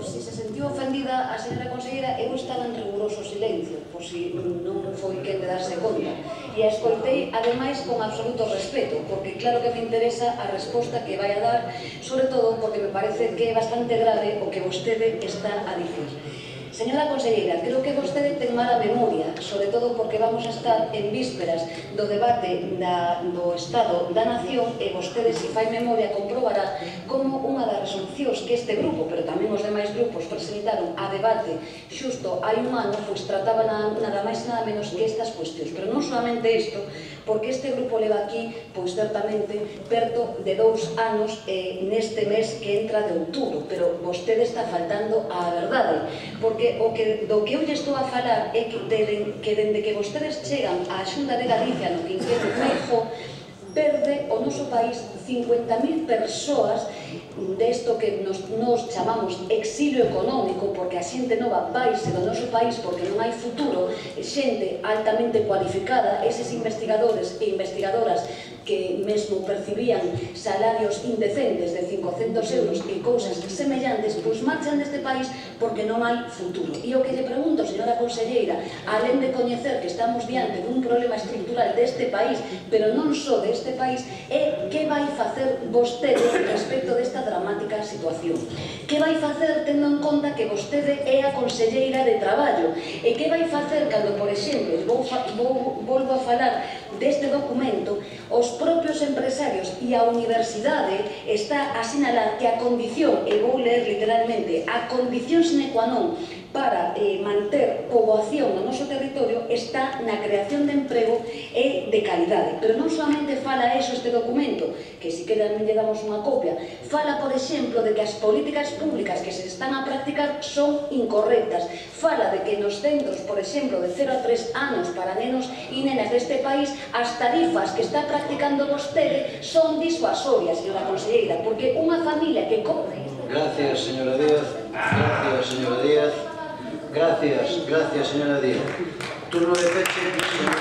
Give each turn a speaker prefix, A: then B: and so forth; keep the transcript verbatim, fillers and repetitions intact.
A: se se sentiu ofendida a señora conselleira, eu estaba en riguroso silencio, por si non foi quen de darse conta. E a escoitei, ademais, con absoluto respeto, porque claro que me interesa a resposta que vai a dar, sobre todo porque me parece que é bastante grave o que vostede está a dicir. Señora conselleira, creo que vostede ten mala memoria, sobre todo porque vamos a estar en vísperas do debate do Estado da Nación e vostede, se fai memoria, comprobará como unha das resolucións que este grupo, pero tamén os demais grupos, presentaron a debate xusto hai un ano, pois trataba nada máis nada menos que estas cuestións. Pero non solamente isto, porque este grupo leva aquí, pois certamente, perto de dous anos neste mes que entra de outubro, pero vostede está faltando á verdade, porque o que, do que eu lle estou a falar é que, de, que dende que vostedes chegan á Xunta de Galicia no quinquenio Feijóo, perde o noso país cincuenta mil persoas desto que nos, nos chamamos exilio económico, porque a xente nova vaise do noso país porque non hai futuro, xente altamente cualificada, eses investigadores e investigadoras que mesmo percibían salarios indecentes de cincocentos euros e cousas semellantes, pois marchan deste país porque non hai futuro. E o que lle pregunto, señora conselleira, alén de coñecer que estamos diante dun problema estrutural deste país, pero non só deste país, é que vai facer vostede respecto desta dramática situación. Que vai facer tendo en conta que vostede é a conselleira de Traballo? E que vai facer cando, por exemplo, vou, vou, volvo a falar deste documento, os propios empresarios e a universidade está a sinalar que a condición, e vou ler literalmente, a condición sine qua non para eh, manter poboación no noso territorio está na creación de emprego e de calidade. Pero non solamente fala eso este documento, que si que tamén lle damos unha copia, fala, por exemplo, de que as políticas públicas que se están a practicar son incorrectas, fala de que nos centros, por exemplo, de cero a tres anos para nenos e nenas deste país, as tarifas que está practicando vostede son disuasorias, señora conselleira, porque unha familia que cobre...
B: Gracias, señora Díaz. Gracias, señora Díaz. Gracias, gracias, señora Díaz. Turno de peche.